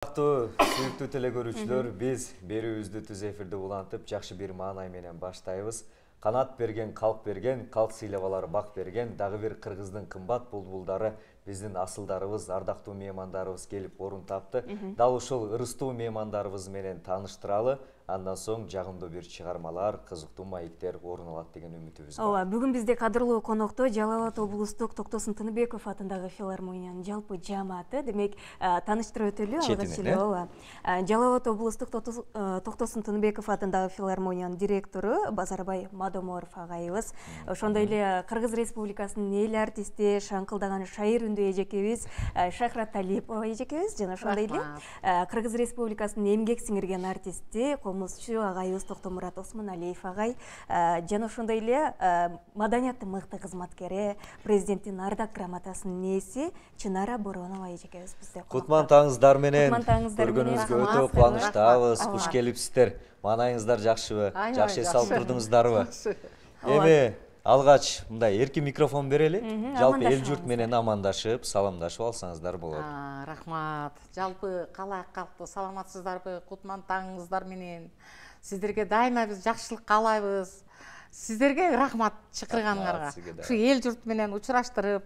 Сүйүктүү телекөрүүчүлөр, биз берүүбүздү түз эфирде улантып, жакшы бир маанай менен баштайбыз. Канат берген, калк сыйлап алар бак берген, дагы бир кыргыздын кымбат булбулдары, биздин асылдарыбыз, ардактуу меймандарыбыз келип орун тапты. Дал ушул ырыстуу меймандарыбыз менен тааныштыралы. Андан соң жагымдуу бир чыгармалар, кызыктуу маектер орун алат деген үмүтүбүз бар. Ооба, бүгүн бизде кадырлуу конокто Жалал Абад облустук Токтосун Тыныбеков атындагы филармониянын жалпы жааматы. Демек, тааныштырып өтөлү алгач эле. Ооба. Жалал Абад облустук Токтосун Тыныбеков атындагы филармониянын директору Базарбай Мадоморов агайыбыз. Ошондой эле Кыргыз Республикасынын эл артисти, шаңкылдаган шайыр үндүү эжекебиз Шахрат Талипова эжекебиз жана ошондой эле Кыргыз Республикасынын эмгек сиңирген артисти агайыбыз Токтомурат Осмоналиев агай жана ошондой эле маданияттын мыкты кызматкери, президенттин ардак грамотасынын ээси Чынара Боронова эжекебиз бизде. Кутман таңыңыздар менен көргөнүңүзгө өтө кубанычтабыз. Куш келипсиздер. Маанайыңыздар жакшыбы? Жакшы эс алып турдуңуздарбы? Эми алгач мындай эркин микрофон берели. Жалпы эл журт менен амандашып, саламдашып алсаңыздар болот. Рахмат. Жалпы калай калкты саламатсыздарбы? Кутман таңыңыздар менен сиздерге дайыма биз жакшылык каалайбыз. Сиздерге рахмат чакырганыңарга. Ушу эл журт менен учураштырып,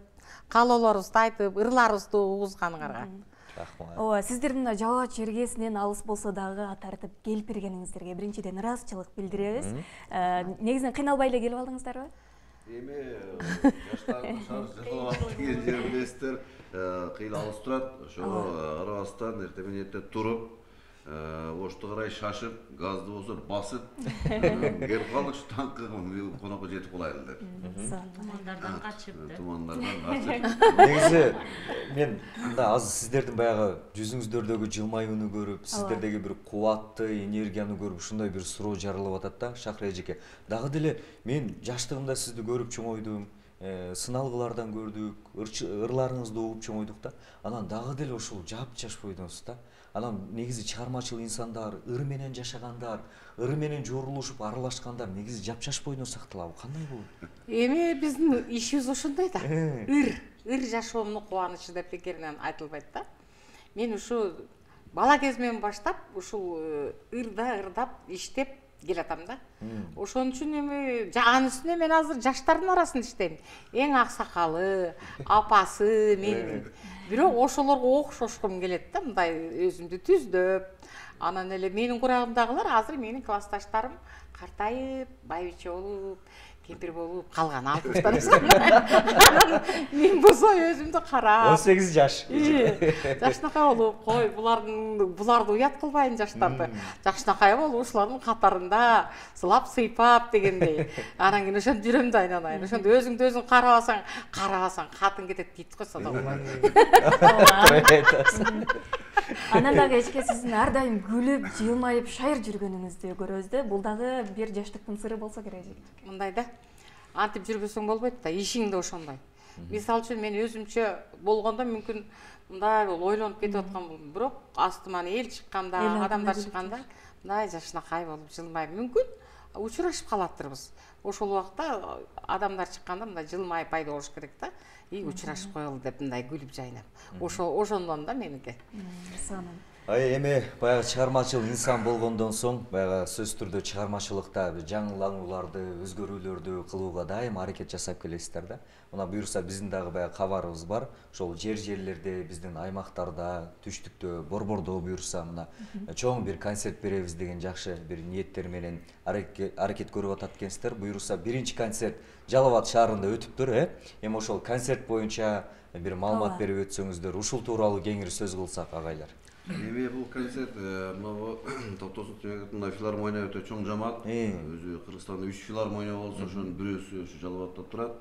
каалоолорубузду айтып, ырларыбызды угузганыңарга. Рахмат. Ооба, сиздердин Жалал Абад чергесинен алыс болсо дагы тартып келип бергениңиздерге биринчиден ыраазычылык билдиребиз. Негизинен кыйналбай эле келип алдыңыздарбы? Эми жаштардын Жалал Абад деген жер билесиздер, кыйла алыс турат. Ошого карабастан эртең менен туруп, ошту карай шашып, газды болсо басып, келип калдык ушу таңкы конокко жетип калайлы деп. Тумандардан качып. Тумандардан качып. Негизи мен мында азыр сиздердин баягы жүзүңүздөрдөгү жылмаюуну көрүп, сиздердеги бир кубатты энергияны көрүп, ушундай бир суроо жаралып атат да, Шахра эжеке. Дагы деле мен жаштыгымда сизди көрүп чоңойдум, сыналгылардан көрдүк, ырларыңызды угуп чоңойдук да. Анан дагы деле ушул жапжаш бойдонсуз да. Анан негизи чыгармачыл инсандар, ыр менен жашагандар, ыр менен жорулушуп аралашкандар негизи жапжаш бойдон сакталабы? Кандай болот? Эми биздин ишибиз ошондой да. Ыр жашоомдун кубанычы деп бекеринен айтылбайт да. Мен ушу бала кезимден баштап ушул ырдап иштеп келатам да. Ошон үчүн эми анын үстүнө мен азыр жаштардын арасында иштейм. Эң аксакалы, апасы мен. Бирок ошолорго окшошкум келет да, мындай өзүмдү түздөп. Анан эле менин курагымдагылар азыр менин классташтарым картайып, байбиче болуп, кемпир болуп калган 60-тар. Мен болсо өзүмдү карап 18 жаш. Жакшынакай болуп, кой, буларды уят кылбайын жаштарды. Жакшынакай болуп, ушулардын катарында сылап сыйпап дегендей. Анан кийин ошентип жүрөм да айналайын. Ошондо өзүңдү өзүң карабасаң катын кетет дейт го сонда. Анан дагы эчке сиздин ар дайым күлүп, жылмайып, шайыр жүргөнүңүздү көрөбүз да. Бул дагы бир жаштыктын сыры болсо керек. Мындай да. Антип жүрбөсөң болбойт да, ишиң да ошондой. Мисалы үчүн мен өзүмчө болгондо мүмкүн мындай ойлонуп кетип аткан болдум. Бирок астыман эл чыкканда, адамдар чыкканда мындай жакшынакай болуп жылмайып мүмкүн учурашып калаттырбыз. Ошол убакта адамдар чыкканда мындай жылмайып пайда болуш керек да. Учурашып коелу деп мындай күлүп жайнап. Ошондон да меники. Эми баягы чыгармачыл инсан болгондон соң, баягы сөзсүз түрдө чыгармачылыкта жаңыланууларды, өзгөрүүлөрдү кылууга дайым аракет жасап келесиздер да. Мына буюрса биздин дагы баягы кабарыбыз бар. Ошол жерлерде, биздин аймактарда, түштүктө, борбордо буюрса мына чоң бир концерт беребиз деген жакшы бир ниеттер менен аракет көрүп атат экенсиздер. Буюрса биринчи концерт Жалал Абад шаарында өтүптүр, Эми ошол концерт боюнча бир маалымат берип өтсөңүздөр, ушул тууралуу кеңири сөз кылсак агайлар. Эми бул концерт мына Токтосун Тыныбековдун филармония өтө чоң жамаат. Өзү Кыргызстанда 3 филармония болсо, ошонун бирөөсү ушу Жалал Абадта турат.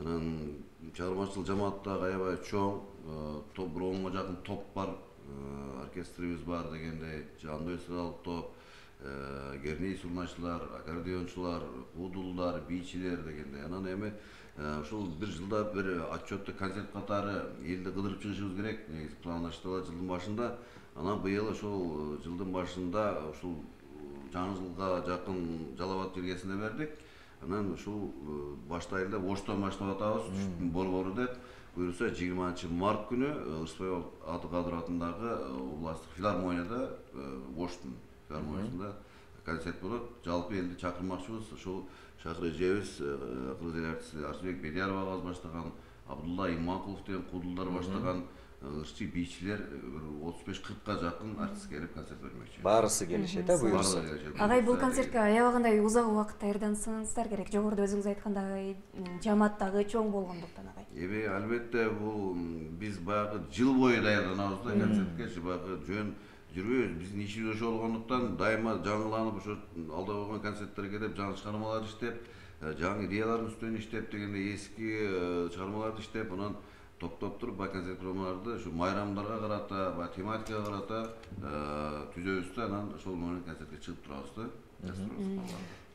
Анан чыгармачыл жамаатта аябай чоң, бир 10га жакын топ бар, оркестрибиз бар дегендей, жандуу эстрадалык топ, герний сурначылар, аккордеончулар, удулдар, бийчилер дегендей. Анан эми ушул бир жылда бир отчетту концерт катары элди кыдырып чыгышыбыз керек. Негизи пландаштырылат жылдын башында. Анан быйыл ошол жылдын башында ушул жаңы жылга жакын Жалал Абад жергесине бердик. Анан ушул баштайлы деп оштон баштап атабыз, борбору деп. буюрса 20-март күнү Ырысбай Абдыкадыров атындагы областтык филармонияда Оштун филармониясында концерт болот. Жалпы элди чакырмакчыбыз. Ошол шакыр эжебиз кыргыз эл артисти Арсыбек Бедияров агабыз баштаган, Абдулла Иманкулов деген кудулдар баштаган ырчы бийчилер 35-40га жакын артист келип концерт бермекчи. Баарысы келишет, буюрса. Агай, бул концертке аябагандай узак убакыт даярдансаңыздар керек. Жогоруда өзүңүз айткандай жамаат дагы чоң болгондуктан агай. Албетте бул биз баягы жыл бою даярданабыз да концертке, баягы жөн жүрбөйбүз. Биздин ишибиз ошо болгондуктан дайыма жаңыланып, ошо алда болгон концерттерге келип жаңы чыгармалар иштеп, жаңы идеялардын үстүнөн иштеп дегенде эски чыгармаларды иштеп, анан топтоп туруп баягы концерт программаларды ушу майрамдарга карата, баягы тематикага карата түзөбүз да, анан ошол менен концертке чыгып турабыз да.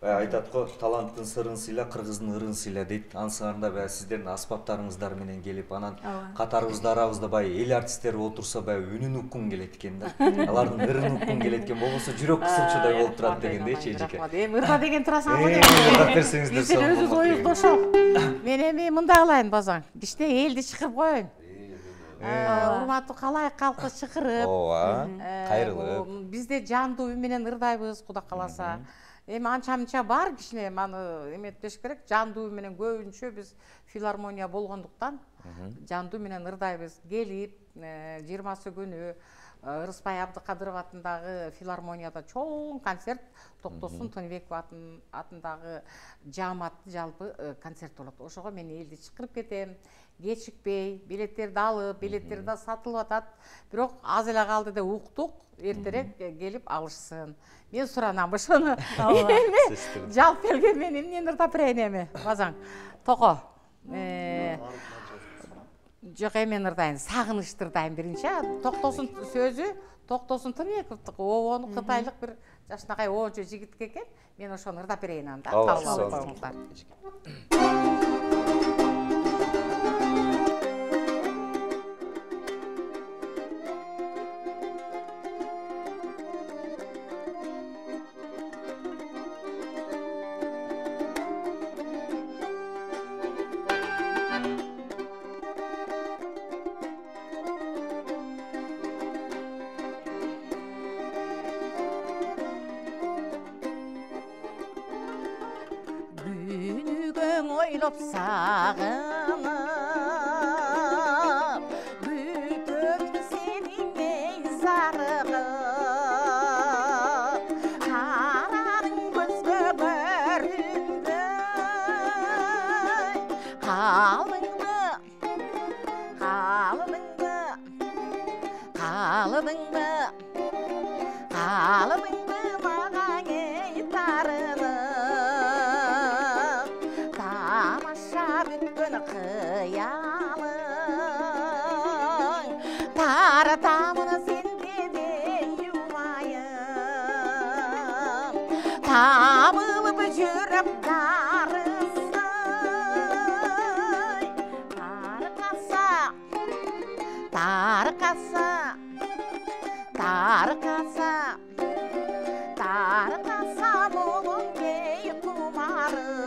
Айтат го, таланттын сырын сыйла, кыргыздын ырын сыйла дейт. Ансыңарда баягы сиздердин аспаптарыңыздар менен келип, анан катарыбызда арабызда баягы эл артисттери отурса баягы үнүн уккун келет экен да. Алардын ырын уккун келет экен, болбосо жүрөк кысылчудай болуп турат дегендейчи эжеке. Ырда деген турасыңарбы деп. Ырдап берсеңиздер сиздер өзүңүз оюңузду ошол. Мен эми мындай кылайын базаң. Кичине элди чакырып коеюн. Урматтуу калайык калкы чакырып. Ооба, кайрылып. Бизде жандуу үй менен ырдайбыз, Кудай кааласа. Эми анча-мынча бар кичине маны эметпеш керек. Жандуу үй менен көбүнчө биз филармония болгондуктан жандуу менен ырдайбыз. Келип 20 күнү Ырысбай Абдыкадыров атындагы филармонияда чоң концерт, Токтосун Тыныбеков атындагы жааматтын жалпы концерт болот. Ошого мен элди чакырып кетем. Кечикпей, билеттерди алып, билеттер да сатылып атат. Бирок аз эле калды деп уктук, эртерээк келип алышсын. Мен суранам ошону. Жалп келген мен эмнени ырдап берейин эми, базаң. Тoko. Жок, эми ырдайын, сагынычты ырдайын биринчи. Токтосун сөзү, Токтосун Тыныбековдук, обону кытайлык бир жашынакай оочу жигит экен. Мен ошону ырдап берейин анда. Кабыл алып коюңуздар. Ойлоп сагынып бүтөмдү сенин зарыгып карадың көзгө көрүнбөй калыбыңбы мага кейтарынып тамаша бүткөн кыялың таратамын сенге де юлайым табылып жүрөк дарысый таркаса болуп кей кумарым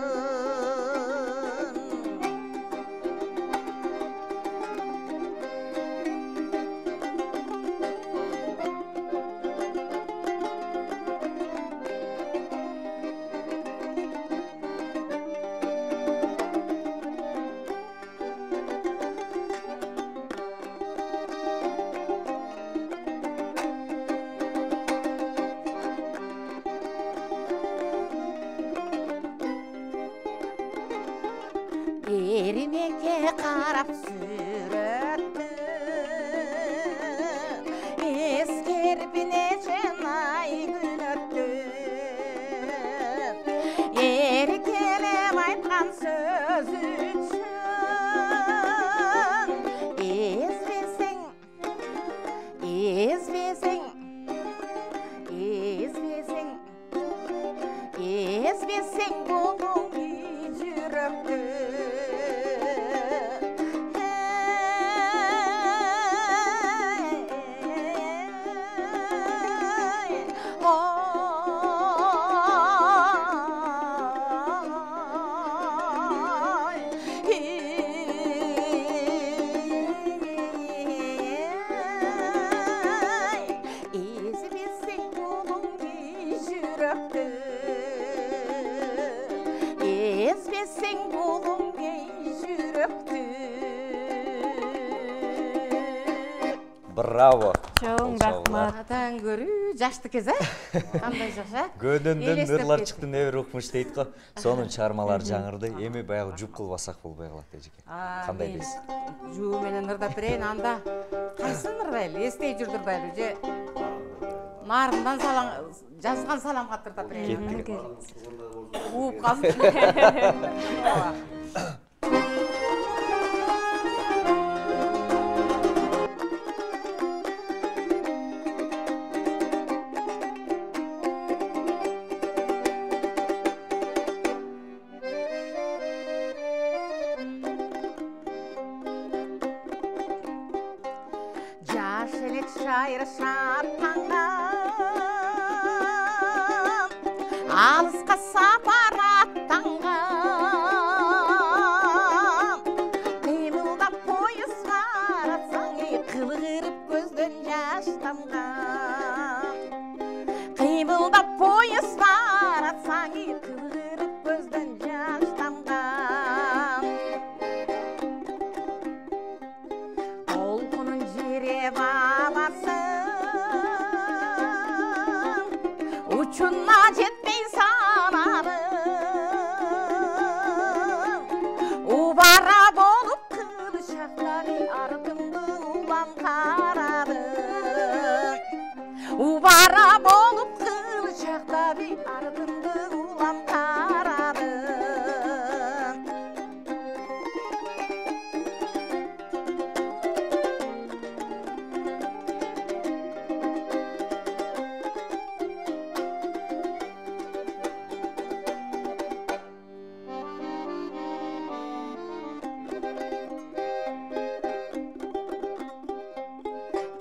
Erimeke karap süröttüm Eskerip neçen ay gün öttüm Erkelem aytkan söz üçün ezbeseng bolun yürekte Браво. Чоң рахмат. Атаң көрүү жашты кез, кандай жаша? Көдөндөн ырлар чыкты, небир укмуш дейт го. Сонун чыгармалар жаңырды. Эми баягы жуп кылбасак болбой калат эжеке. Кандай дейсиз? Жуу менен ырдап берейин, анда кайсын ырдайлы? Эстей жүрдүрдайлы же нарындан жазган салам кат ырдап берейин. Ууп калдым. Жаш элек шайыр шаттанган, алыска сапар аттанган, кыймылдап поезд карасаң, кылгырып көздөн жаш тамган. Кыймылдап поезд карасаң, кылгырып көздөн жаш тамган. Толкунун жиреп аласың, учуна жетпей санадың. Убара болуп кылычактагы артыңды улам карадың. Убара болуп кылычактагы артыңды улам карадың.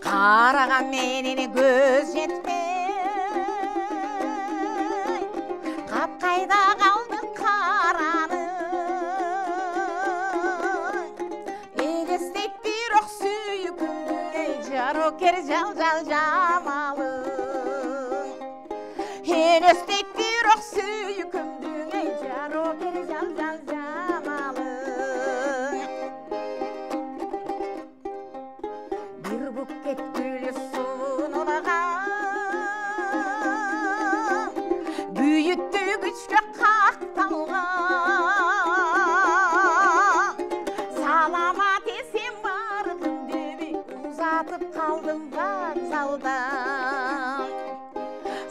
Караган менен көз жетпей, капкайда калды караның. Элестейт бирок сүйкүмдү, жарокер жал жамалың. Элестейт бирок сүйкүмдү, жарокер жал жамалың. Бир букет гүл сунулаган, бүйүттү күчкө какталган. Саламат эсен бардым деп узатып калдым вокзалдан.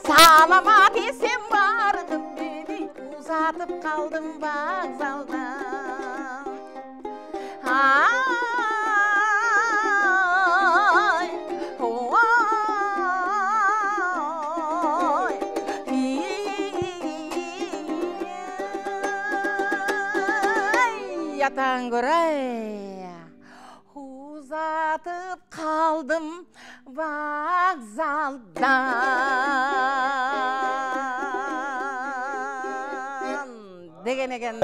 Саламат эсен бардым деп узатып калдым вокзалдан. Атаң көрөй, узатып калдым вокзалдан деген экен.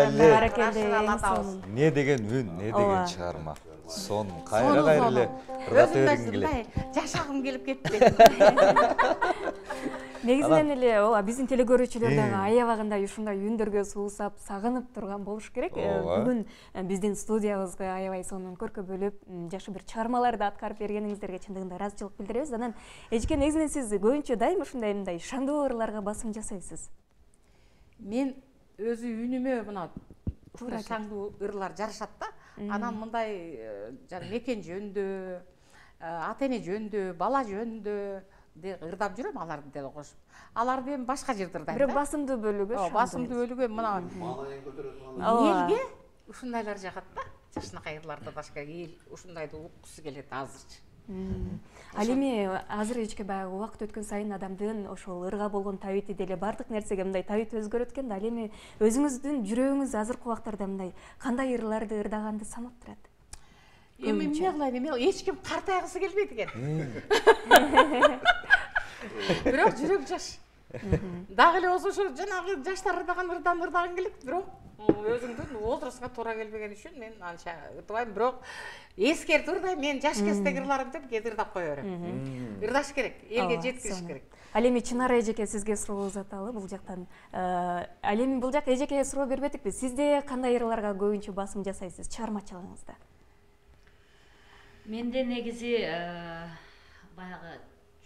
Не деген үн, не деген чыгарма. Сон кайра эле ырдап бергим келет. Жашагым келип кетти. Негизинен эле ооба биздин телекөрүүчүлөр дагы аябагындай ушундай үндөргө суусап, сагынып турган болуш керек. Бүгүн биздин студиябызга аябай сонун көркө бөлүп, жакшы бир чыгармаларды аткарып бергениңиздерге чындыгында ыраазычылык билдиребиз. Анан эжеке, негизинен сиз көбүнчө дайым ушундай мындай шаңдуу ырларга басым жасайсыз. Мен өзү үнүмө мына ушундай шаңдуу ырлар жарашат да. Анан мындай мекен жөндө, ата эне жөндө, бала жөндө ырдап жүрөм, аларды деле кошуп. Аларды эми башка жерде ырдайм да. Бирок басымдуу бөлүгү. Басымдуу бөлүгү мына элге ушундайлар жагат да. Жакшынакай ырларды башка эл ушундайды уккусу келет азырчы. Ал эми азыр эчке баягы убакыт өткөн сайын адамдын ошол ырга болгон табити деле бардык нерсеге мындай табит өзгөрөт экен да. Ал эми өзүңүздүн жүрөгүңүз азыркы убактарда мындай кандай ырларды ырдаганды санап турат? Эми эмне кылайын, эми эч ким картайгысы келбейт экен. Бирок жүрөк жаш. Дагы эле болсо ошо жанагы жаштар ырдаган ырдаган келет, бирок өзүңдүн возрастка туура келбеген үчүн мен анча ырдабайм. Бирок эскертип ырдайм, мен жаш кездеги ырларым деп кээ ырдап кое берем. Ырдаш керек, элге жеткириш керек. Ал эми Чынара эжеке сизге суроо узаталы бул жактан. Ал эми бул жак эжекеге суроо бербедикпи? Сизде кандай ырларга көбүнчө басым жасайсыз чыгармачылыгыңызда? Менде негизи баягы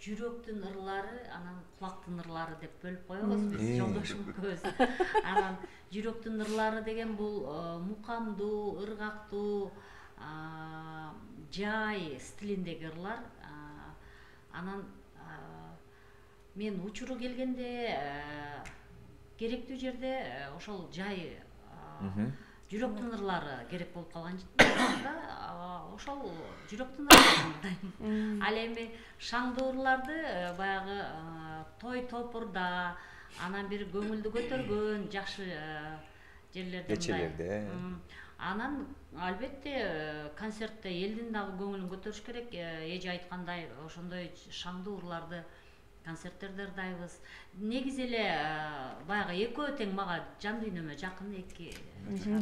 жүрөктүн ырлары, анан кулактын ырлары деп бөлүп коебуз биз жолдошум экөөбүз. Анан жүрөктүн ырлары деген бул мукамдуу, ыргактуу, жай стилиндеги ырлар. Анан мен учуру келгенде керектүү жерде ошол жай жүрөктүн ырлары керек болуп калган да, ошол жүрөктүн ырларын ырдайм. Ал эми шаңдуу ырларды баягы той топурда, анан бир көңүлдү көтөргөн жакшы жерлерде кечелерде. Анан албетте концертте элдин дагы көңүлүн көтөрүш керек. Эже айткандай ошондой шаңдуу ырларды концерттерде ырдайбыз. Негизи эле баягы экөө тең мага жан дүйнөмө жакын эки.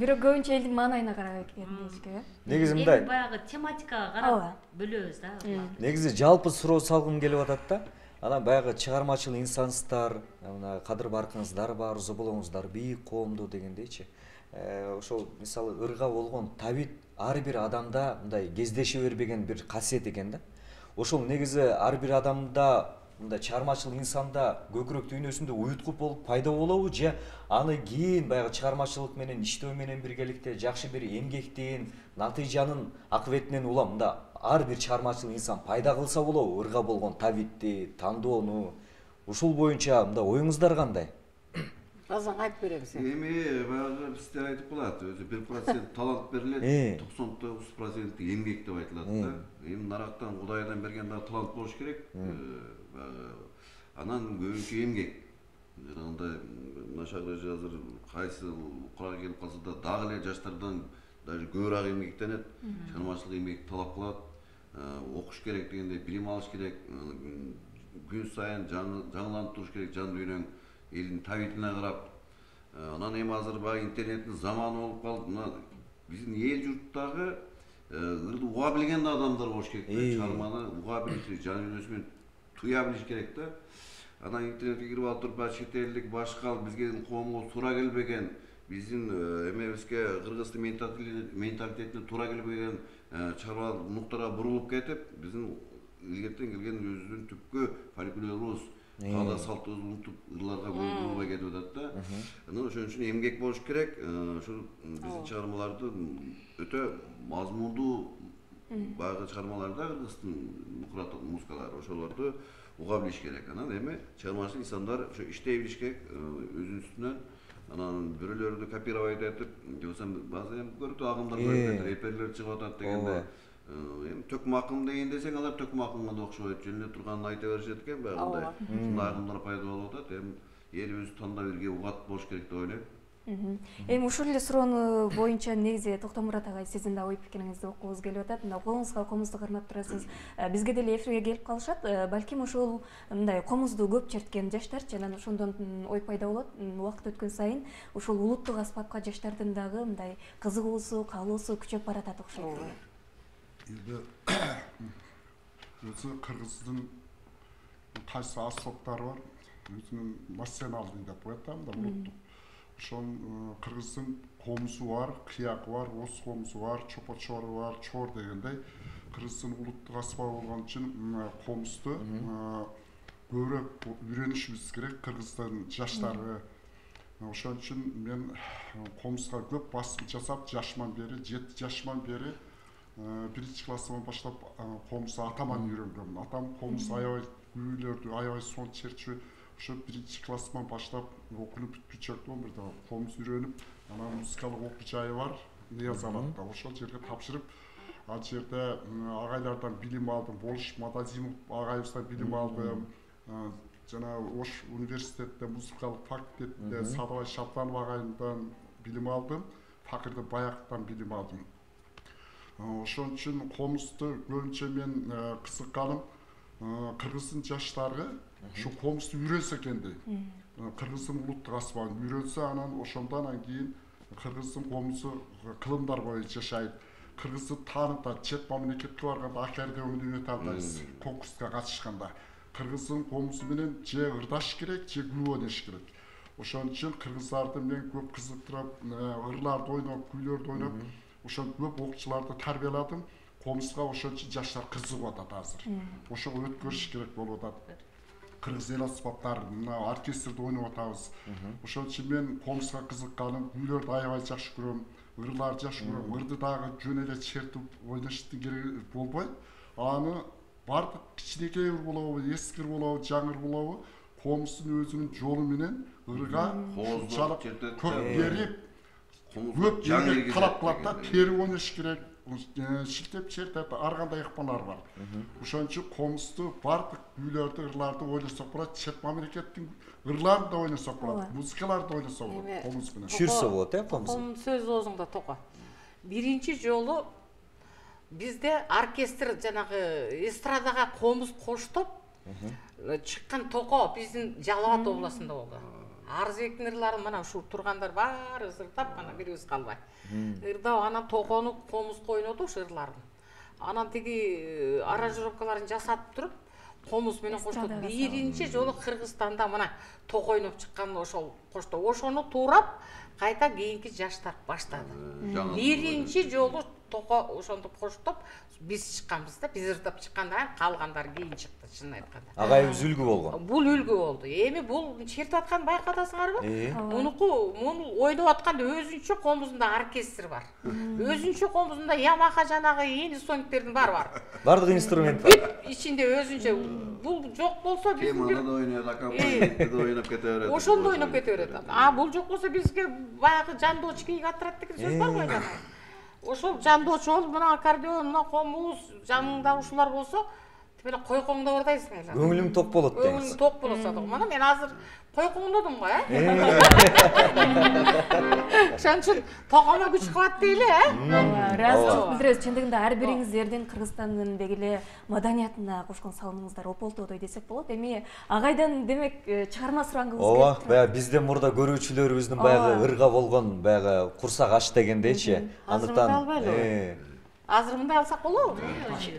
Бирок көбүнчө элдин маанайына карап кеткенбизби? Негизи мындай. Баягы тематикага карап бөлөбүз да. Негизи жалпы суроо салгым келип атат да. Анан баягы чыгармачыл инсансыздар, мына кадыр баркыңыздар бар, зоболоңуздар бийик коомдуу дегендейчи. Ошол мисалы ырга болгон табит ар бир адамда мындай кездеше бербеген бир касиет экен да. Ошол негизи ар бир адамда мындай чыгармачыл инсанда көкүрөк дүйнөсүндө уюткуп болуп пайда болобу, же аны кийин баягы чыгармачылык менен иштөө менен биргеликте жакшы бир эмгектин, натыйжанын акыбетинен улам мында ар бир чыгармачыл инсан пайда кылса болобу ырга болгон табитти, тандоону. Ушул боюнча мында оюңуздар кандай? Азан айтып берем сен. Эми баягы бизде айтып калат, өзү 1% талант берилет, 99% эмгек деп айтылат да. Эми нарактан Кудайдан берген да талант болуш керек. Анан көбүнчө эмгек. Жанагындай нашагы азыр кайсы курага келип калса да дагы эле жаштардан даже көбүрөөк эмгектенет. Чыгармачылык эмгек талап кылат. Окуш керек дегенде билим алыш керек. Күн сайын жаңыланып туруш керек жан дүйнөң. Элдин табитине карап. Анан эми азыр баягы интернеттин заманы болуп калып, мына биздин эл журттагы ырды уга билген адамдар болуш керек да, чыгарманы уга билиш, жан дүйнөсү туя билиш керек да. Анан интернетке кирип алып туруп баягы чет элдик башка бизге коомго туура келбеген, биздин эмебизге кыргыздын менталитетине туура келбеген чыгарма нуктага бурулуп кетип, биздин илгертен келген өзүбүздүн түпкү фольклорубуз каада салтыбызды унутуп ырларга бурулбай кетип атат да. Анан ошон үчүн эмгек болуш керек. Ошол биздин чыгармаларды өтө мазмундуу баягы чыгармаларда кыргыздын музыкалары ошолорду уга билиш керек. Анан эми чыгармачыл инсандар ошо иштей билиш керек өзүнүн үстүнөн. Анан бирөөлөрдү копировать этип, же болбосо баазы эми көрүктүү агымдар көрүп реперлер чыгып атат дегенде эми төкүм акын деген десең алар төкүм акынга да окшобойт, жөн эле турганын айта беришет экен баягындай. Ушундай агымдар пайда болуп атат. Эми эл өзү тандап бирге угат болуш керек деп ойлойм. Эми ушул эле суроону боюнча негизи Токтомурат агай сиздин да ой пикириңизди окугубуз келип атат. Мына колуңузга комузду кармап турасыз. Бизге деле эфирге келип калышат. Балким ошол мындай комузду көп черткен жаштарчы, анан ошондон ой пайда болот. Убакыт өткөн сайын ушул улуттук аспапка жаштардын дагы мындай кызыгуусу, каалоосу күчөп баратат окшойт. Эми өзү кыргыздын кайсы аспаптары бар, өзүнүн националдык деп коет да, улуттук. Ошон кыргыздын комузу бар, кыякы бар, оз комузу бар, чопочору бар, чор дегендей кыргыздын улуттук аспабы болгон үчүн комузду көбүрөөк үйрөнүшүбүз керек кыргыздын жаштары. Ошон үчүн мен комузга көп басым жасап, жашыман бери, 7 жашыман бери 1-чи класстан баштап комузду атаман үйрөнгөм. Атам комуз аябай күүлөрдү, аябай сон чертчү. Ошо 1-чи класстан баштап окуп бүткүчөктү, бирде комуз үйрөнүп, анан музыкалык окуу жайы бар, Нияз Абадта. Ошол жерге тапшырып, ал жерде агайлардан билим алдым, Болуш Мадазимов агайыбыздан билим алдым. Жана Ош университетте музыкалык факультетинде Садыбай Шаптанов агайымдан билим алдым, Факырды Баяктан билим алдым. Ошон үчүн комузду көбүнчө мен кызыкканым кыргыздын жаштары ушу комузду үйрөнсө экен дейм. Кыргыздын улуттук аспабын үйрөнсө, анан ошондон кийин кыргыздын комузу кылымдар боюнча жашайт. Кыргызды таанытат, чет мамлекетке барганда акерде өнүнө тандайбыз, конкурска катышканда. Кыргыздын комузу менен же ырдаш керек, же күү ойнош керек. Ошон үчүн кыргыздарды мен көп кызыктырып, ырларды ойноп, күүлөрдү ойноп, ошон көп окуучуларды тарбияладым. комузга ошончо жаштар кызыгып атат азыр. Ошого өткөрүш керек болуп атат. Кыргыз эл аспаптары, мына оркестрде ойноп атабыз. Ошон үчүн мен комузга кызыкканым, үйлөрдү аябай жакшы көрөм, ырларды жакшы көрөм. Ырды дагы жөн эле чертип ойноштун кереги болбойт. Аны бардык кичинекей болобу, эскир болобу, жаңыр болобу, комуздун өзүнүн жолу менен ырга ушунчалык көп берип, көп жаңыр талап кылат да, тери ойнош керек. Шилтеп чертет, ар кандай ыкмалар бар. Ошон үчүн комузду бардык үйлөрдө ырларды ойлосок болот, чет мамлекеттин ырларын да ойносок болот, музыкаларды да ойносок болот комуз менен. Жүрсө болот, комуз. Токонун сөзү оозуңда токо. Биринчи жолу бизде оркестр жанагы эстрадага комуз коштоп чыккан токо биздин Жалал Абад областында болду. Арызбектин ырларын мына ушу тургандар баары ырдап, ана бирибиз калбай. Ырдап, анан токону комузга ойноду ушу ырларын. Анан тиги аранжировкаларын жасап туруп, комуз менен коштоду. Биринчи жолу Кыргызстанда мына ток ойноп чыккан ошол коштоо. Ошону туурап, кайта кийинки жаштар баштады. Биринчи жолу токо ошондо коштоп биз чыкканбыз да, биз ырдап чыккандан калгандар кийин чыкты, чынын айтканда. Агайыбыз үлгү болгон. Бул үлгү болду. Эми бул чертип аткан байкадасыңарбы? Муну ойноп атканда өзүнчө комузунда оркестр бар. Өзүнчө комузунда Yamaha жанагы инструменттердин баары бар. Бардык инструмент бар. Бүт ичинде өзүнчө. Бул жок болсо биз Теманы да ойнойт, аккомпанементти да ойноп кете берет. Ошондо ойноп кете берет. Бул жок болсо бизге баягы жандоочу кийгатырат деген сөз бар го айнан. Ошол жандоочу болуп, мына аккордеон, мына комуз, жаныңда ушулар болсо, тип эле койкоңдоп ырдайсың эле. Көңүлүң ток болот дейсиз. Көңүлүң ток болот да. Мына мен азыр койкоңдодум го, Ошон үчүн токомо күч кылат дейли, Ыраазычылык билдиребиз. Чындыгында ар бириңиздердин Кыргызстандын дегеле маданиятына кошкон салымыңыздар ополтодой десек болот. Эми агайдан демек чыгарма сурагыңыз келип. Ооба, баягы бизден мурда көрүүчүлөрүбүздүн баягы ырга болгон баягы курсак аш дегендейчи. Азыр мындай алсак болобу?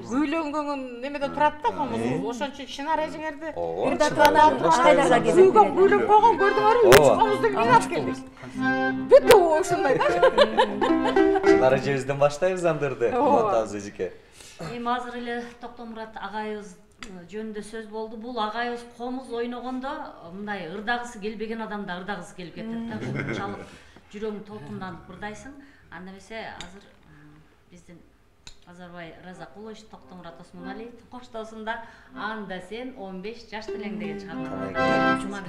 Күйлөнгөн немеде турат да комуз. Ошон үчүн чынар эжиңерди ырдатып агайларга келип. Сүйгөн күйлөп койгон көрдүңөрбү? 3 комузду ыйлап келдик. Бүт ошондой да. Чынар эжебизден баштайбыз андырды. Кубатабыз эжеке. Эми азыр эле Токтомурат агайыбыз жөнүндө сөз болду. Бул агайыбыз комуз ойногондо мындай ырдагысы келбеген адамда ырдагысы келип кетет да. Ушунчалык жүрөгүң толкунданып ырдайсың. Анда эмесе азыр биздин Азарбай Разакулович, Токтомурат Осмоналиев коштоосунда Анда сен 15 жаш делең деген чыгарма. Жума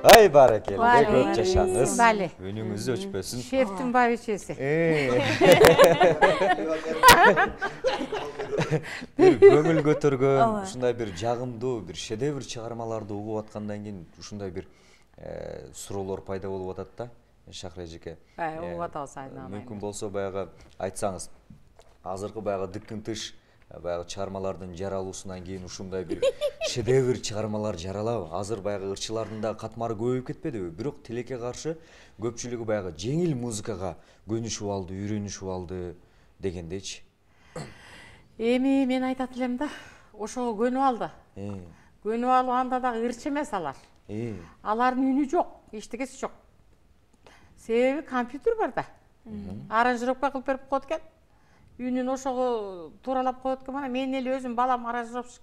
Ай баракелде, көп жашаңыз. Бали. Үнүңүз өчпөсүн. Шефтин бабичеси. Бир көңүл көтөргөн, ушундай бир жагымдуу, бир шедевр чыгармаларды угуп аткандан кийин ушундай бир суроолор пайда болуп атат да. Шахра эжеке. Угуп атабыз айнала. Мүмкүн болсо баягы айтсаңыз, азыркы баягы дыктын тыш баягы чыгармалардын жаралуусунан кийин ушундай бир шедевр чыгармалар жаралабы? Азыр баягы ырчылардын да катмары көбөйүп кетпедиби? Бирок тилекке каршы көпчүлүгү баягы жеңил музыкага көнүшүп алды, үйрөнүшүп алды дегендейчи. Эми мен айтат элем да, ошого көнүп алды. Көнүп алганда дагы ырчы эмес алар. Алардын үнү жок, эчтекеси жок. Себеби компьютер бар да. Аранжировка кылып берип коет экен. Үнүн ошого тууралап коет экен. Мана мен эле өзүм балам аранжировщик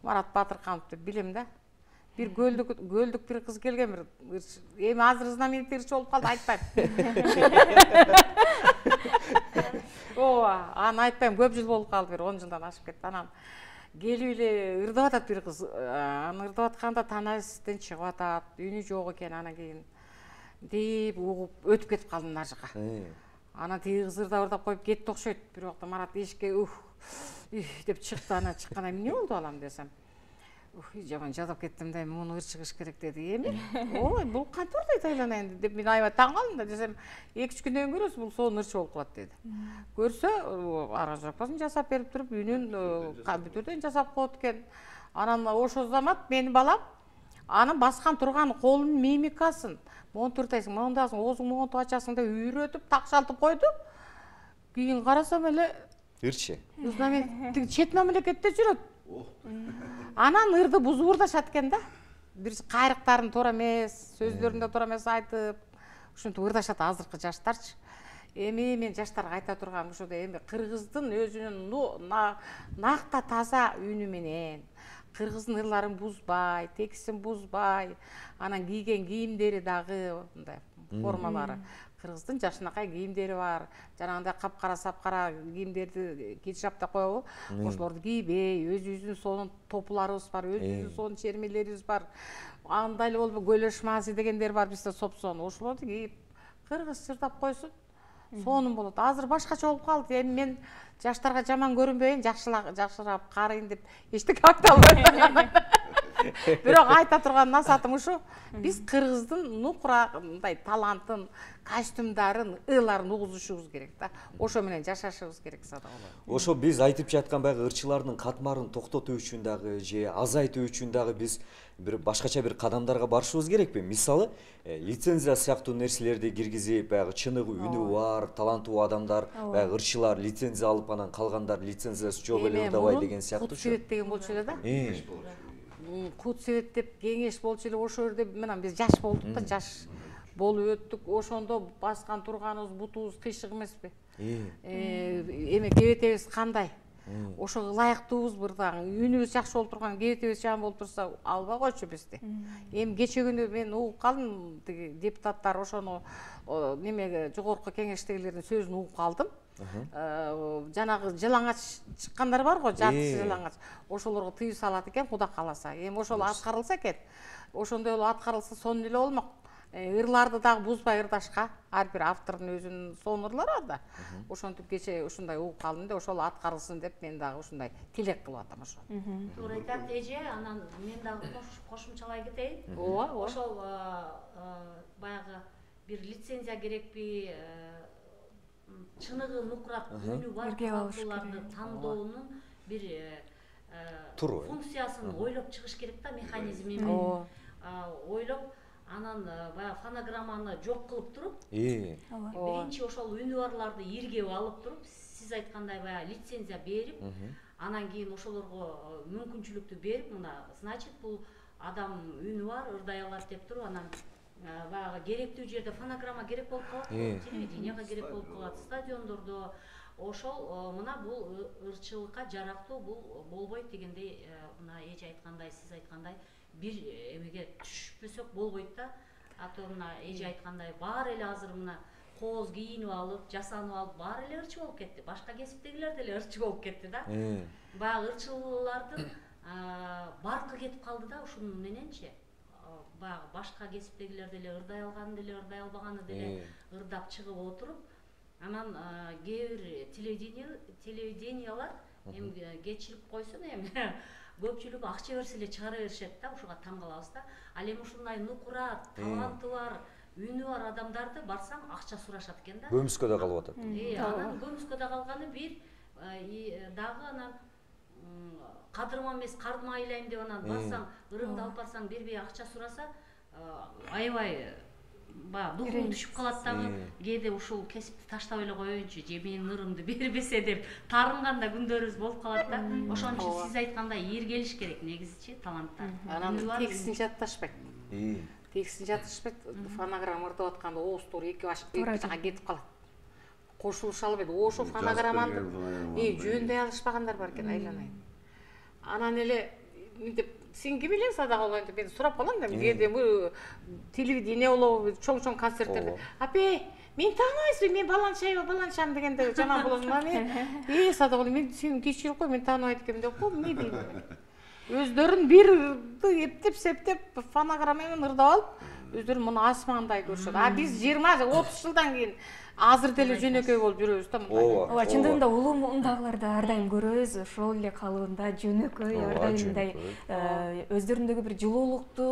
Марат Батырканов деп билем да. Бир гөлдүк бир кыз келген бир ырчы. Эми азыр знаменитый ырчы болуп калды, айтпайм. Ооба, аны айтпайм, көп жыл болуп калды, бир 10 жылдан ашып кетти. Анан келип эле ырдап атат бир кыз. Аны ырдап атканда танасизден чыгып атат, үнү жок экен. Анан кийин деп угуп өтүп кетип калдым нар жака. Анан тиги кыз ырдап коюп кетти окшойт. Бир убакта Марат эшикке деп чыкты. Анан чыкканда эмне болду балам десем. Жаман жадап кеттим да, муну ырчыгыш керек деди. Эми ой, бул кантип ырдайт айланайын деп мен аябай таң калдым да, десем 2-3 күндөн кийин көрөсүз, бул сонун ырчы болуп калат деди. Көрсө, аранжировкасын жасап берип туруп, үнүн компьютерден жасап коет экен. Анан ошо замат менин балам анын баскан турган колунун мимикасын, монтур тайсың, мондасың, оозуң монтуп ачасың деп үйрөтүп, такшалтып койду. Кийин карасам эле ырчы. Знаменитый чет мамлекетте жүрөт. Анан ырды бузуп ырдашат экен да. Бир кайрыктарын туура эмес, сөздөрүн да туура эмес айтып, ушинтип ырдашат азыркы жаштарчы. Эми мен жаштарга айта турган ушуда, эми кыргыздын өзүнүн накта таза үнү менен, кыргыздын ырларын бузбай, текстин бузбай, анан кийген кийимдери дагы мындай формалары. Кыргыздын жашынакай кийимдери бар. Жанагындай капкара сапкара кийимдерди кичап деп коебу. Ошолорду кийбей, өзүбүздүн сонун топуларыбыз бар, өзүбүздүн сонун чермелерибиз бар. Андай эле болуп гөлөш мази дегендер бар бизде сопсон. Ошолорду кийип, кыргызча ырдап койсун, сонун болот. Азыр башкача болуп калды. Эми мен жаштарга жаман көрүнбөйүн, жакшыраак карыйын деп эчтеке айта албайм. Бирок айта турган насаатым ушу, биз кыргыздын нукурагындай талантын, костюмдарын, ыйларын угузушубуз керек да. Ошо менен жашашыбыз керек сада болот. Ошо биз айтып жаткан баягы ырчылардын катмарын токтотуу үчүн дагы же азайтуу үчүн дагы биз бир башкача бир кадамдарга барышыбыз керекпи? Мисалы, лицензия сыяктуу нерселерди киргизип, баягы чыныгы үнү бар, таланттуу адамдар, баягы ырчылар лицензия алып, анан калгандар лицензиясы жок эле ырдабай деген сыяктуу. Кут деген болчу эле да. Кут себет деп кеңеш болчу эле, ошо жерде менен биз жаш болдук да, жаш болуп өттүк. Ошондо баскан турганыбыз бутубуз кыйшык эмеспи? Эми кебетебиз кандай? Ошого ылайыктуубуз бирдагы. Үнүбүз жакшы болуп турган, кебетебиз жаман болуп турса, албай койчу бизди. Эми кече күнү мен угуп калдым, тиги депутаттар ошону немеге жогорку кеңештегилердин сөзүн угуп калдым. Жанагы жылаңач чыккандар бар го, жартысы жылаңач. Ошолорго тыюу салат экен, Куда кааласа. Эми ошол аткарылса экен. Ошондой эле аткарылса сонун эле болмок. Ырларды дагы бузбай ырдашка, ар бир автордун өзүнүн сонун ырлары бар да. Ошентип кече ушундай угуп калдым да, ошол аткарылсын деп мен дагы ушундай тилек кылып атам ошо. Туура айтат эже, анан мен дагы кошумчалай кетейин. Ооба. Ошол баягы бир лицензия керекпи, чыныгы нукурак үнү бар таланттууларды тандоонун бир функциясын ойлоп чыгыш керек да, механизмин ойлоп, анан баягы фонограмманы жок кылып туруп, биринчи ошол үнү барларды иргеп алып туруп, сиз айткандай баягы лицензия берип, анан кийин ошолорго мүмкүнчүлүктү берип, мына значит бул адам үнү бар, ырдай алат деп туруп, анан баягы керектүү жерде фонограмма керек болуп калат, телевиденияга керек болуп калат, стадиондордо. Ошол мына бул ырчылыкка жарактуу, бул болбойт дегендей, мына эже айткандай, сиз айткандай бир эмеге түшпөсөк болбойт да. А то мына эже айткандай баары эле азыр мына кооз кийинип алып, жасанып алып, баары эле ырчы болуп кетти. Башка кесиптегилер деле ырчы болуп кетти да. Баягы ырчылардын баркы кетип калды да, ушунун мененчи. Баягы башка кесиптегилер деле ырдай алганы деле, ырдай албаганы деле ырдап чыгып отуруп, анан кээ бир телевидениялар эми кечирип койсун, эми көпчүлүгү акча берсе эле чыгара беришет да, ушуга таң калабыз да. Ал эми ушундай нукура, таланты бар, үнү бар адамдарды барсаң акча сурашат экен да. Көмүскөдө калып атат. Анан көмүскөдө калганы бир, дагы анан кадырма эмес, кардыма айлайм деп анан барсаң, ырымды алып барсаң, бербей акча сураса, аябай баягы духум түшүп калат дагы. Кээде ушул кесипти таштап эле коеюнчу, же менин ырымды бербесе деп тарынган да күндөрүбүз болуп калат да. Ошон үчүн сиз айткандай эр келиш керек негизичи таланттар. Анан текстин жатышпайт. Текстин жатышпайт. Фонограмма ырдап атканда ооздор эки жака кетип калат. Кошулуша албайт. Ошо фонограмманы жөндөй алышпагандар бар экен, айланайын. Анан эле мынтип сен ким элең садак болайын деп мен сурап калам да. Кээде телевидение болобу, чоң концерттерде. Апе, мен тааныбайсызбы, мен баланчам дегенде жаман болосуң да мен. Садак болайын, мен сени кечирип кой, мен тааныбайт экенмин деп коем, эмне дейм. Өздөрүн бир эптеп септеп фонограмма менен ырдап алып, өздөрү муну асмандай көрүшөт. А биз 20-30 жылдан кийин азыр деле жөнөкөй болуп жүрөбүз да мындай. Ооба, чындыгында улуу мундагыларды ар дайым көрөбүз, ошол эле калыбында жөнөкөй, ар дайым мындай өздөрүндөгү бир жылуулукту,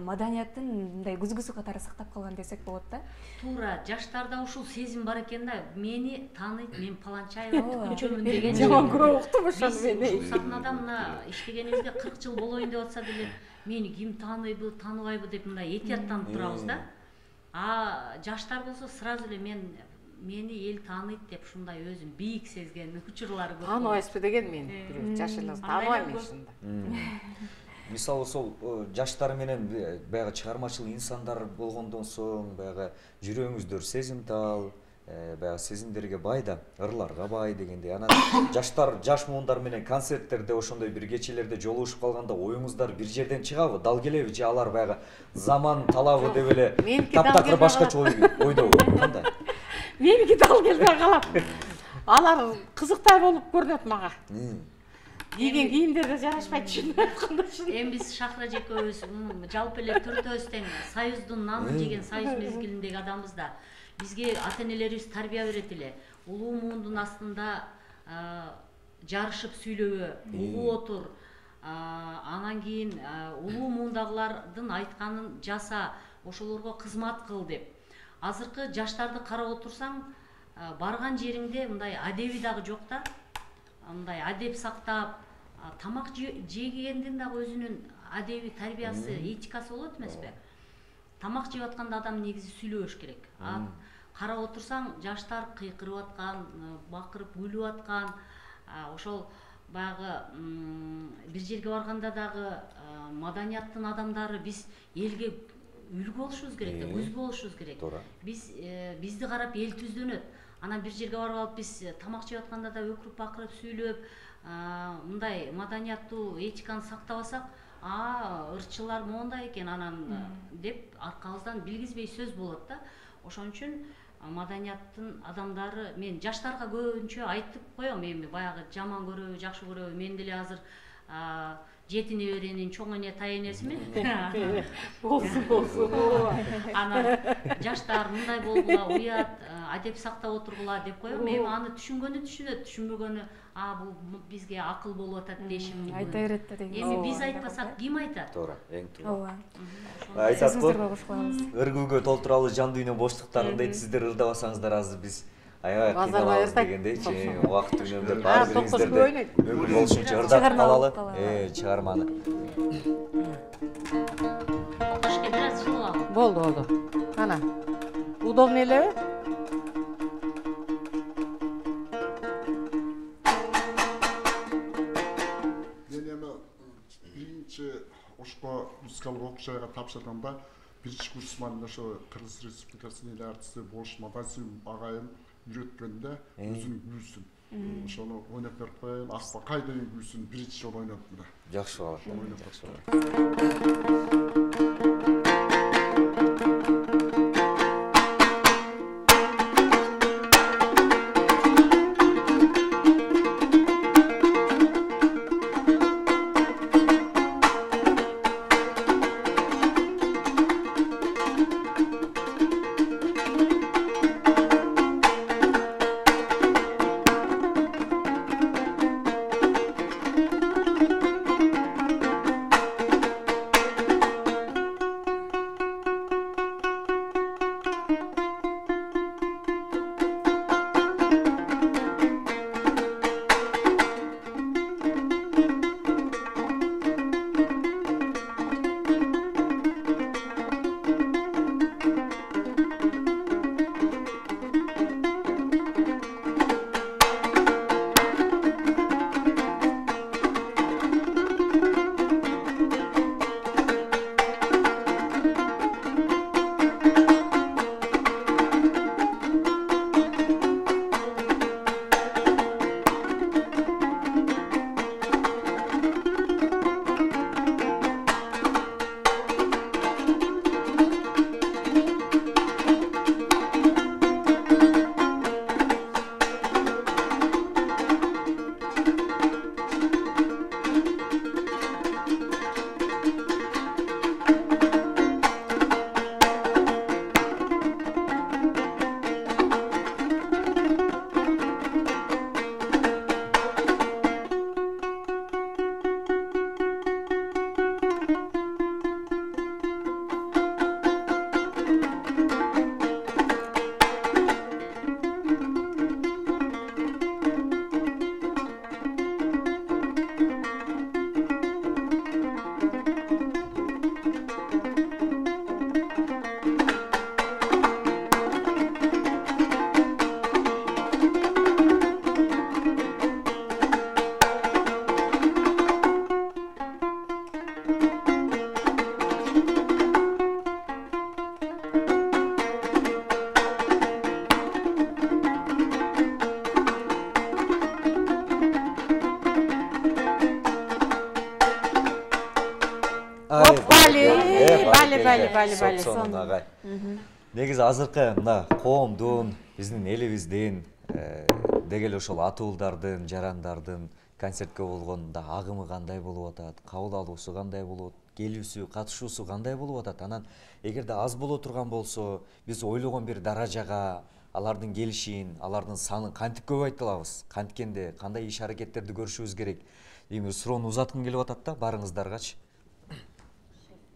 маданияттын мындай күзгүсү катары сактап калган десек болот да. Туура, жаштарда ушул сезим бар экен да. Мени тааныйт, мен Паланчаева күчөмүн деген. Жаман көрүп уктум ошону мени. Ушул сахнада мына иштегенибизге 40 жыл болоюн деп атса деле, мени ким тааныбайбы, тааныбайбы деп мындай этияттанып турабыз да. А жаштар болсо сразу эле мени эл тааныйт деп ушундай өзүн бийик сезген учурлары көп. Тааныбайсызбы деген мен бирөө жаш эле тааныбайм мен ушундай. Мисалы сол жаштар менен баягы чыгармачыл инсандар болгондон соң баягы жүрөгүңүздөр сезимтал, баягы сезимдерге бай да, ырларга бай дегендей. Анан жаш муундар менен концерттерде ошондой бир кечелерде жолугушуп калганда оюңуздар бир жерден чыгабы, дал келеби же алар баягы заман талабы деп эле таптакыр башкача ойдобу? Кандай? Меники дал келбей калат. Алар кызыктай болуп көрүнөт мага. Кийген кийимдерге жарашпайт түшүнүп айтканда. Эми биз Шахра жекебиз жалпы эле төртөөбүз тең Союздун нанын жеген Союз мезгилиндеги адамбыз да. Бизге ата-энелерибиз тарбия берет эле. Улуу муундун астында жарышып сүйлөбө, угуп отур. Анан кийин улуу муундагылардын айтканын жаса, ошолорго кызмат кыл деп. Азыркы жаштарды карап отурсаң, барган жериңде мындай адеби дагы жок да. Мындай адеп сактап, тамак жегендин дагы өзүнүн адеби тарбиясы, этикасы болот эмеспи? Тамак жеп атканда адам негизи сүйлөбөш керек. Карап отурсаң, жаштар кыйкырып аткан, бакырып күлүп аткан, ошол баягы бир жерге барганда дагы маданияттын адамдары биз элге үлгү болушубуз керек да, көз болушубуз керек. Бизди карап эл түздөнөт. Анан бир жерге барып алып биз тамак жеп атканда да өкүрүп бакырып сүйлөп, мындай маданияттуу этиканы сактабасак, ырчылар моундай экен анан деп аркабыздан билгизбей сөз болот да. Ошон үчүн маданияттын адамдары, мен жаштарга көбүнчө айтып коем, эми баягы жаман көрөбү, жакшы көрөбү, мен деле азыр 7 неберенин чоң эне тай энесимин. Болсун. Анан жаштар мындай болгула, уят, адеп сактап отургула деп коем. Эми аны түшүнгөнү түшүнөт, түшүнбөгөнү, бул бизге акыл болуп атат дешим мүмкүн. Айта берет да деген. Эми биз айтпасак ким айтат? Туура, эң туура. Ооба. Айтат го, ыргүүгө толтурабыз жан дүйнө боштуктарын дейт, сиздер ырдабасаңыздар азыр биз аябай кыйналабыз дегендейчи, убакыт үнөмдөп баары бириңиздерди мүмкүн болушунча ырдатып калалы, чыгарманы. Окушка бир аз жылып ал. Болду. Ана. Удобно элеби? Мен эми биринчи ошко музыкалык окуучайга тапшырганда биринчи курсман ошо Кыргыз Республикасынын эл артисти Болуш Мадасим агайым үйрөткөндө өзүнүн күүсүн ошону ойноп берип коеюн. Акбакай деген күүсүн биринчи жолу ойнодум да. Жакшы болот. бали. Сонун агай. Негизи азыркы мына коомдун, биздин элибиздин деги эле ошол ата уулдардын, жарандардын концертке болгон да агымы кандай болуп атат, кабыл алуусу кандай болот, келүүсү, катышуусу кандай болуп атат. Анан эгерде аз боло турган болсо, биз ойлогон бир даражага алардын келишин, алардын санын кантип көбөйтө алабыз? Канткенде кандай иш аракеттерди көрүшүбүз керек? Эми суроону узаткым келип атат да барыңыздаргачы.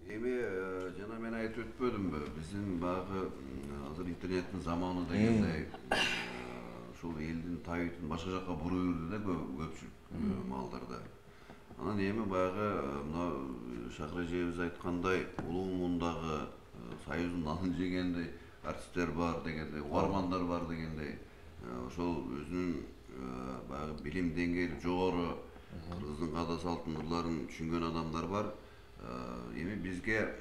Эми жана мен айтып өтпөдүмбү? Биздин баягы азыр интернеттин заманы дегендей ушул элдин табитин башка жакка буруп жүрдү да көпчүлүк маалдарда. Анан эми баягы мына Шакыр эжебиз айткандай, улуу мундагы союздун нанын жегендей артисттер бар дегендей, угармандар бар дегендей, ошол өзүнүн баягы билим деңгээли жогору, кыргыздын каада салтын ырларын түшүнгөн адамдар бар. Эми бизге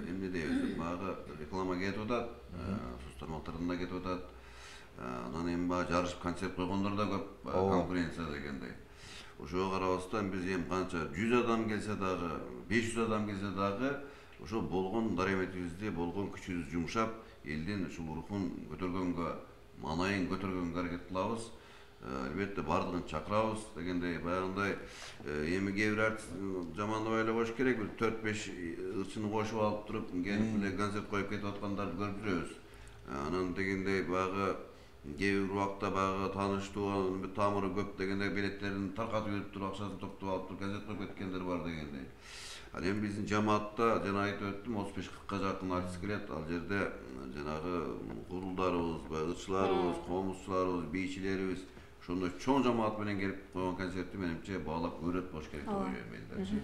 эмне дейбиз, баягы реклама кетип атат, соц тармактардан да кетип атат. Анан эми баягы жарышып концерт койгондор да көп, конкуренция дегендей. Ошого карабастан биз эми канча 100 адам келсе дагы, 500 адам келсе дагы, ошо болгон дараметибизди, болгон күчүбүздү жумшап, элдин ушул рухун көтөргөнгө, маанайын көтөргөнгө аракет кылабыз. Албетте бардыгын чакырабыз дегендей, баягындай эми кээ бир артист жамандабай эле коюш керек, бир 4-5 ырчыны кошуп алып туруп, келип эле концерт коюп кетип аткандарды көрүп жүрөбүз. Анан дегендей баягы кээ бир убакта баягы тааныштуу, тамыры көп дегендей билеттерин таркатып берип туруп, акчасын топтоп алып туруп концерт коюп кеткендер бар дегендей. Ал эми биздин жамаатта жана айтып өттүм, 35-40 жакын артист келет. Ал жерде жанагы курулдарыбыз, ырчыларыбыз, комузчуларыбыз, бийчилерибиз ошондой чоң жамаат менен келип койгон концертти менимче баалап көрөт болуш керек деп ойлойм элдерчи.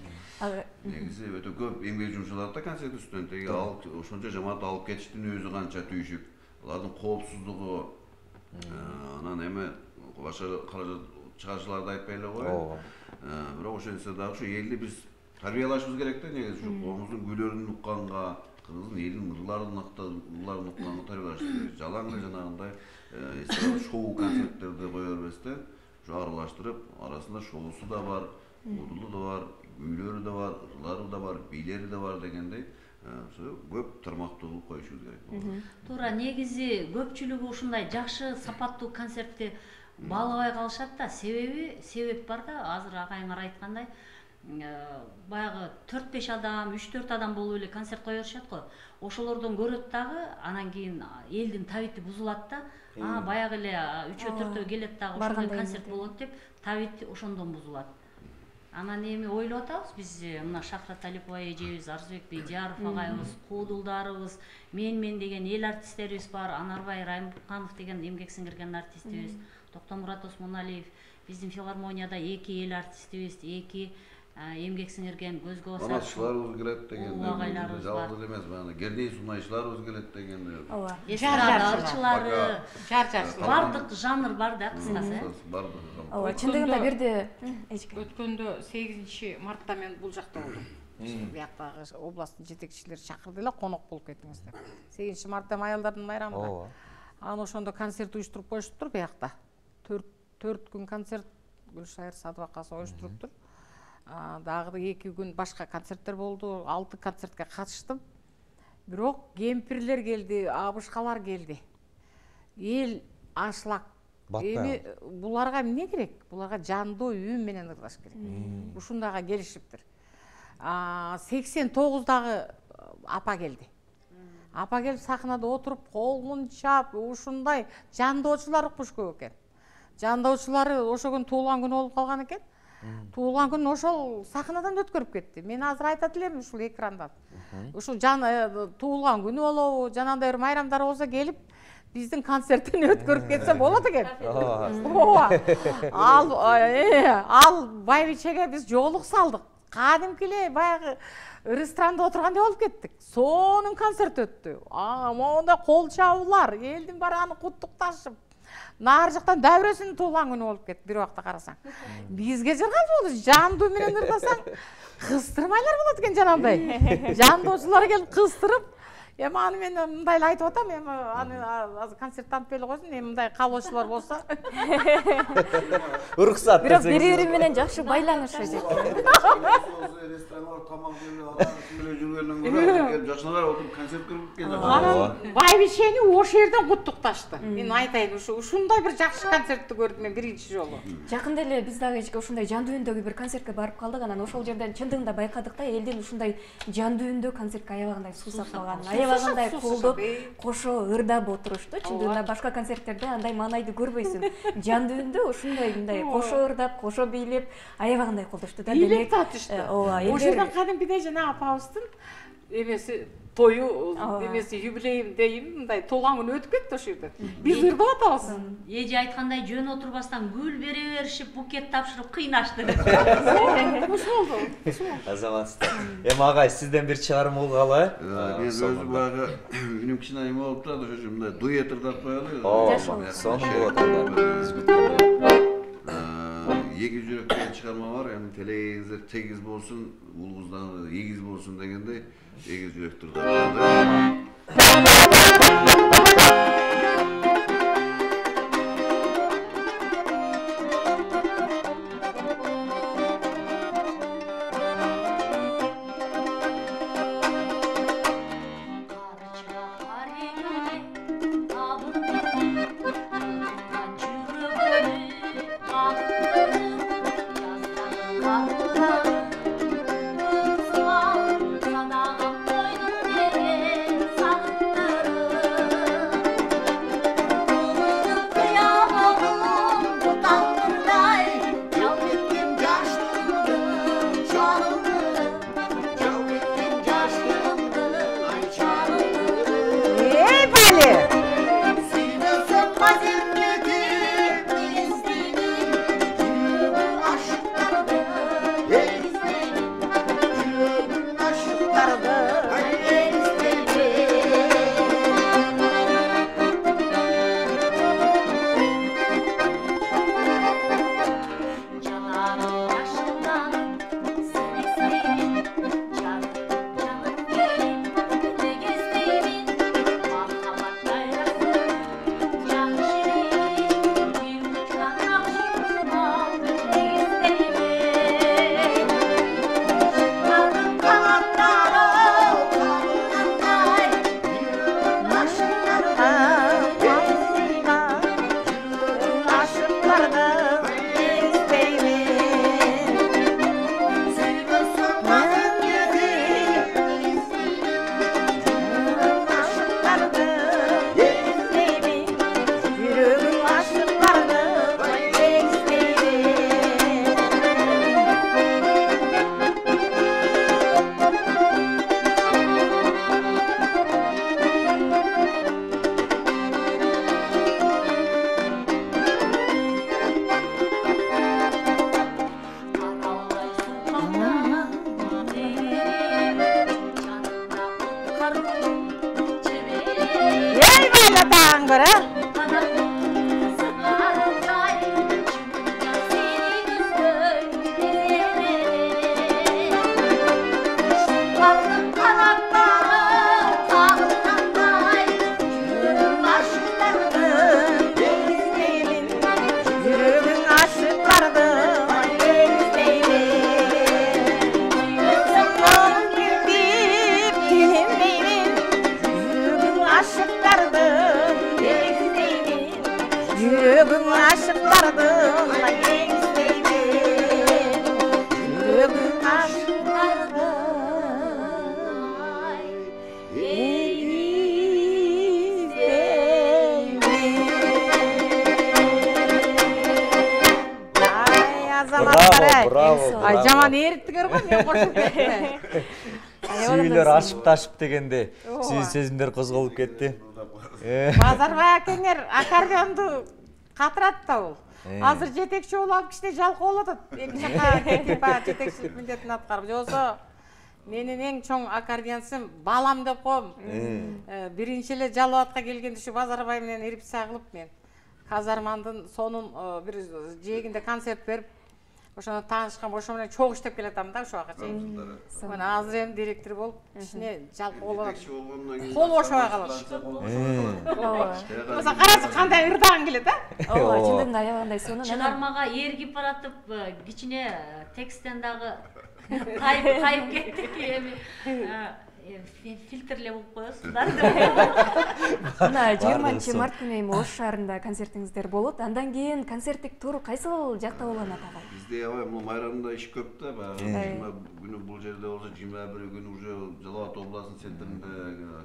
Негизи өтө көп эмгек жумшалат да концерт үстүнөн. Теги ошончо жамаат алып кетиштин өзү канча түйшүк. Алардын коопсуздугу, анан эми башка каражат чыгарышчыларды айтпай эле коеюн. Бирок ошентсе дагы ушу элди биз тарбиялашыбыз керек да, негизи ушу коомубуздун күйлөрүн укканга, кыргыздын элдин ырларын укканга тарбиялашыбыз керек. Жалаң эле жанагындай шоу концерттерди кое бербестен, ушу аралаштырып, арасында шоусу да бар, удулу да бар, күйлөрү да бар, ырлары да бар, бийлери да бар дегендей, көп тармактуу кылып коюшубуз керек. Туура, негизи көпчүлүгү ушундай жакшы сапаттуу концертти баалабай калышат да. Себеп бар да, азыр агайыңар айткандай, баягы 4-5 адам, 3-4 адам болуп эле концерт кое беришет го. Ошолордон көрөт дагы, анан кийин элдин табити бузулат да. Баягы эле 3-4 келет дагы ошондой концерт болот деп, табит ошондон бузулат. Анан эми ойлоп атабыз биз, мына Шакыра Талипова эжебиз, Арзыбек Бейдияров агайыбыз, Куудулдарыбыз, мен деген эл артисттерибиз бар, Анарбай Райымбуканов деген эмгек сиңирген артистибиз, Токтомурат Осмоналиев, биздин филармонияда 2 эл артистибиз, 2 эмгек сиңирген көзгө басар. Манатчыларыбыз келет дегенде, жалгыз эле эмес, баягы Гердей сунайчыларыбыз келет дегенде. Ооба. Жарчылары, бардык жанр бар да, кыскасы. Ооба, чындыгында бирде өткөндө 8 мартта мен бул жакта болдум. Бияктагы областтын жетекчилери чакырды эле, конок болуп кетиңиз деп. 8 мартта аялдардын майрамы да. Анан ошондо концерт уюштуруп коюштур биякта. 4 күн концерт Гүлшайыр Садыбакасы уюштуруптур. Дагы 2 күн башка концерттер болду. 6 концертке катыштым. Бирок кемпирлер келди, абышкалар келди. Эл ашлак. Эми буларга эмне керек? Буларга жандуу үн менен ырлаш керек. Ушундайга келишиптир. 89дагы апа келди. Апа келип сахнада отуруп, колун чап, ушундай жандоочулар укмуш көп экен. Жандоочулары ошол күн туулган күнү болуп калган экен. Туулган күн ошол сахнадан өткөрүп кетти. Мен азыр айтат элем ушул экрандан. Ушул туулган күнү болобу, жанагындай бир майрамдар болсо келип биздин концерттен өткөрүп кетсе болот экен. Ооба. Ал байбичеге биз жоолук салдык. Кадимки эле баягы ресторанда отургандай болуп кеттик. Сонун концерт өттү. Монда кол чабуулар, элдин баары аны куттукташып. Нары жактан дәвресинин туулган күнү болуп кетти. Бир убакта карасаң. Бизге жаргал болду. Жандуу менен ырласаң, кыстырмайлар болот экен жанагындай. Жандоочулар келип кыстырып, Эми аны мен мындай эле айтып атам, эми аны азыр концертти антып эле койсун, эми мындай каалоочулар болсо. Уруксат бирок десеңиз. бири-бири менен жакшы байланышышат. Ресторанга тамак жеп, алар жүргөндөн көрө жакшыраак отуруп концерт көрүп келген. Анан байбишени ошол жерден куттукташты. Мен айтайын, ушундай бир жакшы концертти көрдүм мен биринчи жолу. Жакында эле биз дагы ушундай жан дүйүндөгү бир концертке барып калдык, анан ошол жерден чындыгында байкадык да, элдин ушундай жан дүйүндө концертке аябагандай суусап калганын, аябагандай колдоп, кошо ырдап отурушту. Чындыгында башка концерттерде андай маанайды көрбөйсүң. Жан дүйүндө ушундай мындай кошо ырдап, кошо бийлеп, аябагандай колдошту да. Бийлеп татышты. Ошол жерден кадимкидей жана апабыздын эмеси тою эмеси юбилейим дейм, мындай туулган күнү өтүп кетти ошол жерде. Биз ырдап атабыз. Эже айткандай жөн отурбастан гүл бере беришип, букет тапшырып кыйнашты. Ушул болду. Азаматсыздар. Эми агай сизден бир чыгарым болгалы. Мен өзү баягы үнүм кичине эме болуп турат, ошо мындай дуэт ырдап коелу. Сонун болот анда. Эгиз жүрөк деген чыгарма бар, эми телегиңиздер тегиз болсун, улуңуздан эгиз болсун дегендей эгиз жүрөктү ырдап. Ай жаман эриттиңер го, мен кошуп кеттим. Сүйүлөр ашып-ташып дегенде сүйүү сезимдер козголуп кетти. Базарбай акеңер аккордеонду катырат да бул. Азыр жетекчи болуп алып кичине жалкоо болуп атат. Эки жакка кетип баягы жетекчилик милдетин аткарып. Жоксо менин эң чоң аккордеончум балам деп коем. Биринчи эле Жалал-Абадка келгенде ушу Базарбай менен репетиция кылып мен казармандын сонун бир жээгинде концерт берип, ошондо таанышкан ошо менен чогуу иштеп келатам да ошо убакка чейин. Мына азыр эми директор болуп ичине жалпы кол бошобой калат. Ооба. Карасы кандай ырдаган келет а? ооба чындыгында аябагандай сонун. Чыгармага ээргип баратып кичине тексттен дагы кайып кеттик эми фильтрлеп болуп коесуздар. Мына 20 март күнү эми Ош шаарында концертиңиздер болот. Андан кийин концерттик тур кайсыл жакта уланат агай? Бизде аябай бул майрамда иш көп да, баягы 20 күнү бул жерде болсо 21 күнү уже Жалал Абад областынын центринде